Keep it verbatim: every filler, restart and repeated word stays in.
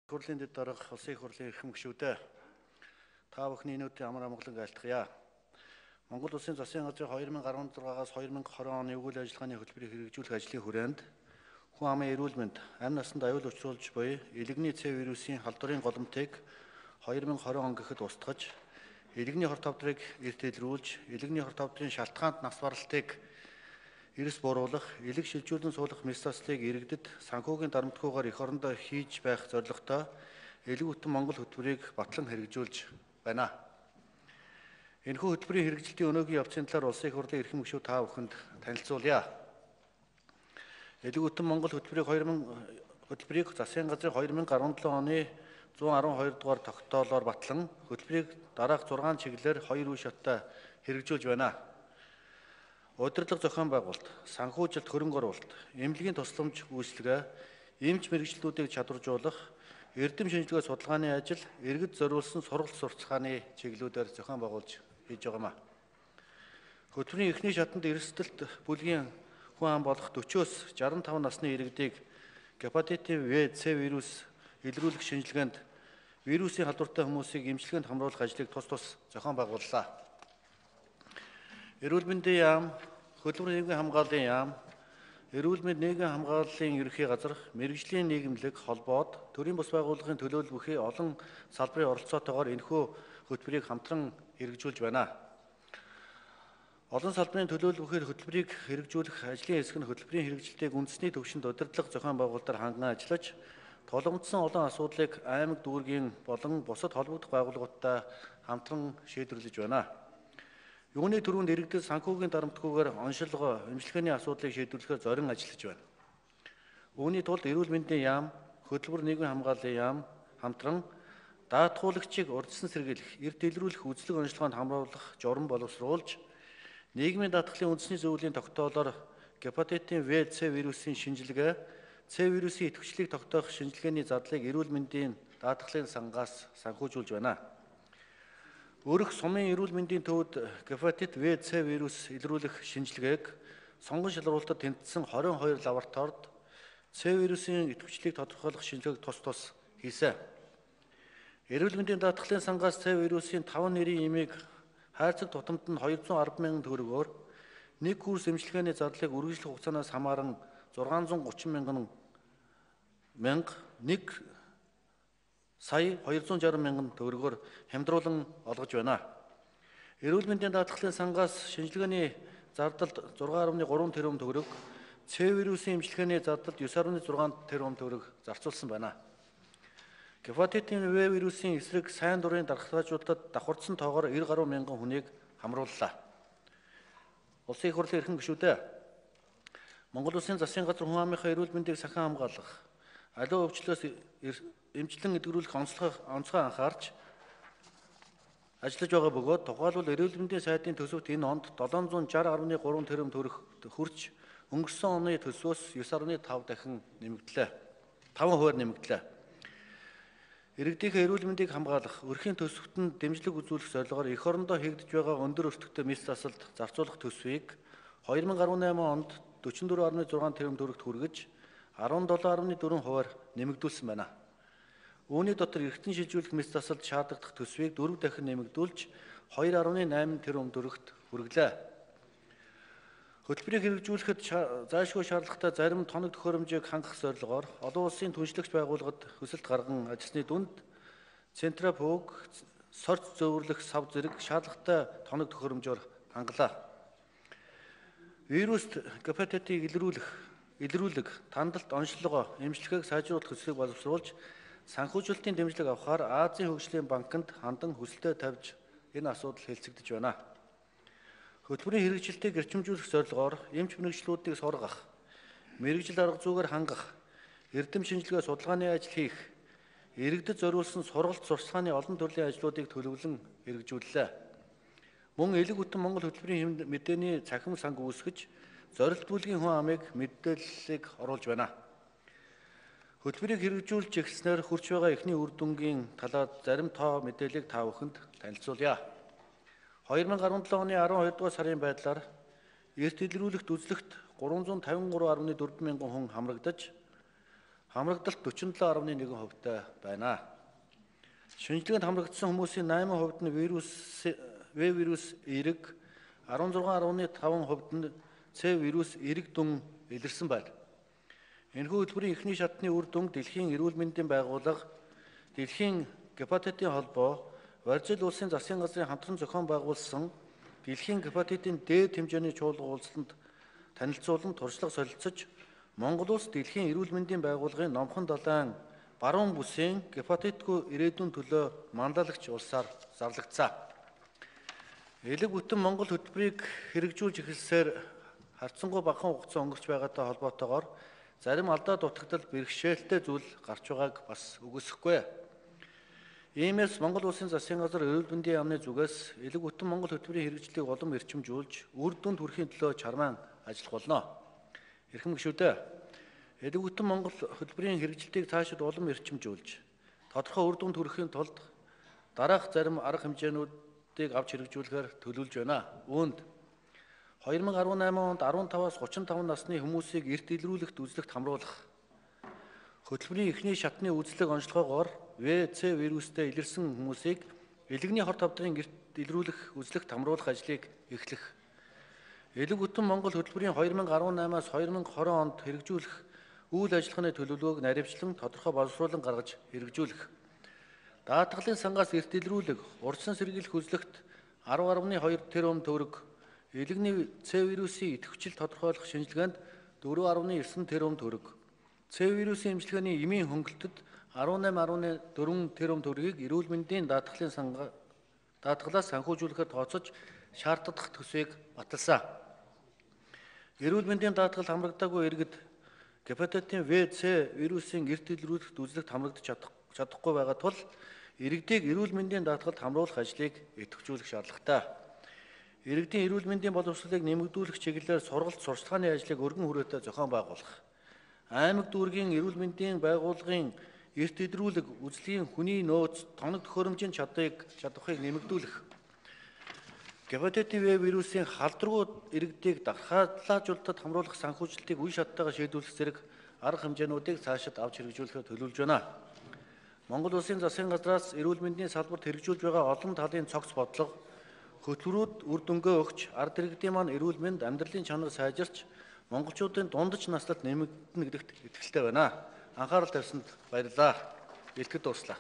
Хурлын дэд дарга улсын их хурлын эрхэм гишүүдээ та бүхний энүүдийн амар амгалан айлтгая. Монгол улсын засгийн газрын две тысячи двадцать шестаас две тысячи двадцать оны үйл ажиллагааны хөтөлбөрийг хэрэгжүүлэх ажлын хүрээнд хүн амын эрүүл мэнд, амь насанд аюул учруулж буй элэгний С вирусын халдварын голомтыг две тысячи двадцать он гэхэд устгаж, элэгний хорт тавдрыг эрт илрүүлж, элэгний хорт тавдрын шалтгаанд нас баралтыг эрс бууруулах, элэг шилжүүлэн суулгах мэс заслыг иргэдэд санхүүгийн дарамтгүйгээр эх орондоо хийж байх зорилготой элэг бүтэн Монгол хөтөлбөрийг батлан хэрэгжүүлж байна. Энэхүү хөтөлбөрийн хэрэгжилтийн өнөөгийн явцын талаар улсын их хурлын эрхэм гишүүд та бүхэнд танилцуулъя. Элэг бүтэн Монгол хөтөлбөрийг две тысячи хөтөлбөрийг засгийн газрын две тысячи дөрвөн оны one twelve дугаар тогтоолоор батлан хөтөлбөрийг дараах six чиглэлээр хоёр үе шаттай хэрэгжүүлж байна. Удирдлага зохион байгуулалт, санхүүжилт хөрөнгө оруулалт, эмнэлгийн тусламж үйлчилгээ, эмч мэрэгчлүүдийг чадваржуулах, эрдэм шинжилгээ судалгааны ажил, иргэд зориулсан сургалт сурталчилгааны чиглэлүүдээр зохион байгуулж хийж байгаамаа. Хөтөлбөрийн эхний шатанд эрсдэлт бүлгийн хүн ам болох forty-өөс sixty-five насны иргэдийг гепатитын В, С вирус илрүүлэх шинжилгээнд вирусын халдвартай хүмүүсийг эмчилгээнд хамруулах ажлыг тус тус зохион байгууллаа. Эрүүл мэндийн яам, хөдөлмөр нийгмийн хамгааллын яам, эрүүл мэнд нийгмийн хамгааллын ерөнхий газар, мэрэгжлийн нийгэмлэг холбоод төрийн бус байгууллагын төлөөлөл бүхий олон салбарын оролцоотойгоор энэхүү хөтөлбөрийг хамтран хэрэгжүүлж байна. Олон салбарын төлөөлөл бүхий хөтөлбөрийг хэрэгжүүлэх ажлын хэсэг нь хөтөлбөрийн хэрэгжилтийг үндэсний түвшинд удирдлага зохион байгуулалтаар ханган ажиллаж, тулгамдсан олон асуудлыг аймаг дүүргийн болон бусад холбогдох байгууллагуудтай хамтран шийдвэрлэж байна. Юуны түрүүнд иргэдэд санхүүгийн дарамтгүйгээр оншилгоо, эмчилгээний асуудлыг шийдвэрлэхээр зорин ажиллаж байна. Үүний тулд эрүүл мэндийн яам, хөдөлмөр нийгмийн хамгааллын яам хамтран даатгуулагчийг урьдчилан сэргийлэх, эрт илрүүлэх үзлэг онцлогоонд хамруулах журам боловсруулж, нийгмийн даатгалын үндэсний зөвлөлийн тогтоолоор гепатитын В, С вирусын шинжилгээ, С вирусын идэвхжлийг тогтоох шинжилгээний задлыг эрүүл мэндийн даатгалын сангаас санхүүжүүлж байна. Өрх сумын эрүүл мэндийн төвд гепатит В, С вирус илрүүлэх шинжилгээг сонгон шалгуулалтад тэнцсэн twenty-two лабораторид С вирусын идэвхжлийг тодорхойлох шинжилгээг тус тус хийсэн. Эрүүл мэндийн даатгалын сангаас С вирусын five нэрийн эмийг хайрцаг тутамд нь two hundred ten thousand төгрөгөөр нэг курс эмчилгээний зардлыг үргэлжлэх хугацаанаас хамааран six hundred thirty thousand мянга, нэг сая two hundred sixty мянган төгрөгөөр хямдруулан олгож байна. Эрүүл мэндийн даатгалын сангаас шинжилгээний зардалд six point three тэрбум төгрөг, С вирусын эмчилгээний зардалд nine point six тэрбум төгрөг зарцуулсан байна. Гепатитын В вирусын эсрэг сайн дурын дархлаажуулалтад давхарцсан тоогоор ninety гаруй мянган хүнийг хамрууллаа. Улсын их хурлын эрхэм гишүүдээ Монгол улсын засгийн газар хүн амынхаа эрүүл мэндийг сахин хамгаалах, аливаа өвчлөөс эмчилэн эдгэрүүлэх онцлог онцгой анхаарч ажиллаж байгаа бөгөөд тухайлбал эрүүл мэндийн сайдын төсөвт энэ онд seven hundred sixty point three тэрбум төгрөг хүрч өнгөрсөн оны төсвөөс nine point five дахин нэмэгдлээ. five хувиар нэмэгдлээ. Иргэдийнхээ эрүүл мэндийг хамгаалах, өрхийн төсөвт нь дэмжлэг үзүүлэх зорилгоор эх орондоо хийгдэж байгаа өндөр өртөгтэй мэс засалд зарцуулах төсвийг twenty eighteen онд forty-four point six тэрбум төгрөгт хүргэж seventeen point four хувиар нэмэгдүүлсэн байна. Үүний дотор эргэтэн шилжүүлэх мэс засалд шаардлагадах төсвийг four дахин нэмэгдүүлж two point eight тэрбум төгрөгт хүргэлээ. Хөтөлбөрийг хэрэгжүүлэхэд зайлшгүй шаардлагатай зарим тоног төхөөрөмжийг хангах зорилгоор олон улсын түншлэгч байгууллагад хүсэлт гарган ажилласны дүнд Центрапөг, сорц зөөвөрлөх сав зэрэг шаардлагатай тоног төхөөрөмжөөр хангалаа. Вируст гепатитыг илрүүлэх, илрүүлэг, тандалт, онцлогоо, эмчилгээг сайжруулах хүслийг боловсруулж санхүүжилтийн дэмжлэг авахаар Азийн хөгжлийн банкнд хандан хүсэлтээ тавьж энэ асуудал хэлцэгдэж байна. Хөтөлбөрийн хэрэгжилтийг эрчимжүүлэх зорилгоор эмч мэрэгчлүүдийг сургах, мэрэгжил арга зүйгээр хангах, эрдэм шинжилгээ судалгааны ажил хийх, иргэдэд зориулсан сургалт сурталчилгааны олон төрлийн ажлуудыг төлөвлөн хэрэгжүүллээ. Мөн элэг бүтэн Монгол хөтөлбөрийн мэдээний цахим санг үүсгэж, зорилт бүлгийн хүн амыг мэдээллийг оруулж байна. Хөтөлбөрийг хэрэгжүүлж эхэлснээр хүрч байгаа эхний үр дүнгийн талаар зарим тоо мэдээллийг та бүхэнд танилцуулъя. twenty seventeen оны twelve дугаар сарын байдлаар эрт илрүүлэгт үзлэгт three hundred fifty three point four мянган хүн хамрагдаж хамрагдалт forty-seven point one хувьтай байна. Шинжилгээнд хамрагдсан хүмүүсийн eight хувьд нь вирус В вирус эрэг, sixteen point five хувьд нь С вирус эрэг дүн илэрсэн байна. Энэхүү хөтөлбөрийн эхний шатны үр дүн Дэлхийн эрүүл мэндийн байгууллага, Дэлхийн гепатитын холбоо, Барзил улсын засгийн газрын хамтран зохион байгуулсан Дэлхийн гепатитын дээд хэмжээний чуулга уулзалтанд танилцуулан туршлага солилцож, Монгол улс Дэлхийн эрүүл мэндийн байгууллагын номхон далайн баруун бүсийн гепатитгүй ирээдүйн төлөө манлайлагч улсаар зарлагдсан. Элэг бүтэн Монгол хөтөлбөрийг хэрэгжүүлж эхэлсээр харьцангуй багахан хугацаа өнгөрч байгаатай холбоотойгоор зарим алдаа дутагдал бэрхшээлтэй зүйл гарч байгааг бас үгүйсэхгүй. Иймээс Монгол улсын засгийн газар эрүүл мэндийн яамны зүгээс элэг бүтэн Монгол хөтөлбөрийн хэрэгжлийг улам эрчимжүүлж, үр дүнд хүрэхийн төлөө чармаан ажиллах болно. Эрхэм гишүүдээ, элэг бүтэн Монгол хөтөлбөрийн хэрэгжилтийг цаашид улам эрчимжүүлж, тодорхой үр дүнд хүрэхийн тулд дараах зарим арга хэмжээнүүдийг авч хэрэгжүүлэхээр төлөвлөж байна. Үүнд two thousand eighteen онд fifteen-аас thirty-five насны хүмүүсийг эрт илрүүлэхт үзлэгт хамруулах, хөтөлбөрийн эхний шатны үзлэг онцлогоогоор В, С вирустэй илэрсэн хүмүүсийг элэгний хор тавдрын эрт илрүүлэх үзлэгт хамруулах ажлыг эхлэх, элэг бүтэн Монгол хөтөлбөрийн two thousand eighteen-аас twenty twenty онд хэрэгжүүлэх үйл ажиллагааны төлөвлөгөөг наривчлан тодорхой боловсруулан гаргаж хэрэгжүүлэх, даатгалын сангаас эрт илрүүлэг, урьдчилан сэргийлэх үзлэгт ten point two тэрбум төгрөг, элэгний С вирусын идэвхжил тодорхойлох шинжилгээнд four point nine тэрбум төгрөг, С вирусын эмчилгээний эмийн хөнгөлөлтөд eighteen point four тэрбум төгрөгийг эрүүл мэндийн даатгалын санга даатгалаас санхүүжүүлэхээр тооцож шаардлагах төсвийг баталсан. Эрүүл мэндийн даатгал хамрагдаагүй иргэд гепатитын В, С вирусын эрт илрүүлэхт үзлэгт хамрагдаж чадахгүй байгаа тул иргэдийг эрүүл мэндийн даатгалд хамруулах ажлыг идэвхжүүлэх шаардлагатай. Иргэдийн эрүүл мэндийн боловсролыг нэмэгдүүлэх чиглэлээр сургалт сурчлагын ажлыг өргөн хүрээтэй зохион байгуулах, аймаг дүүргийн эрүүл мэндийн байгууллагын эрт илрүүлэг үзлэгийн хүний нөөц тоног төхөөрөмжийн чадварыг чадварыг нэмэгдүүлэх, гепатитын В вирусын халдваргүй иргэдийг дахиад хамруулах санхүүжилтийг үе шаттайгаар шийдвэрлэх зэрэг арга хэмжээнүүдийг цаашид авч хэрэгжүүлэхээр төлөвлөж байна. Монгол улсын засгийн газраас эрүүл мэндийн салбарт хэрэгжүүлж байгаа олон талын цогц бодлого, хөтөлбөрүүд үр дүнгээ өгч, ард иргэдийн маань эрүүл мэнд, амьдралын чанар сайжирч, монголчуудын дундаж наслалт нэмэгдэнэ гэдэгт итгэлтэй байна. Анхаарал тавьсанд баярлалаа. Илтгэд дууслаа.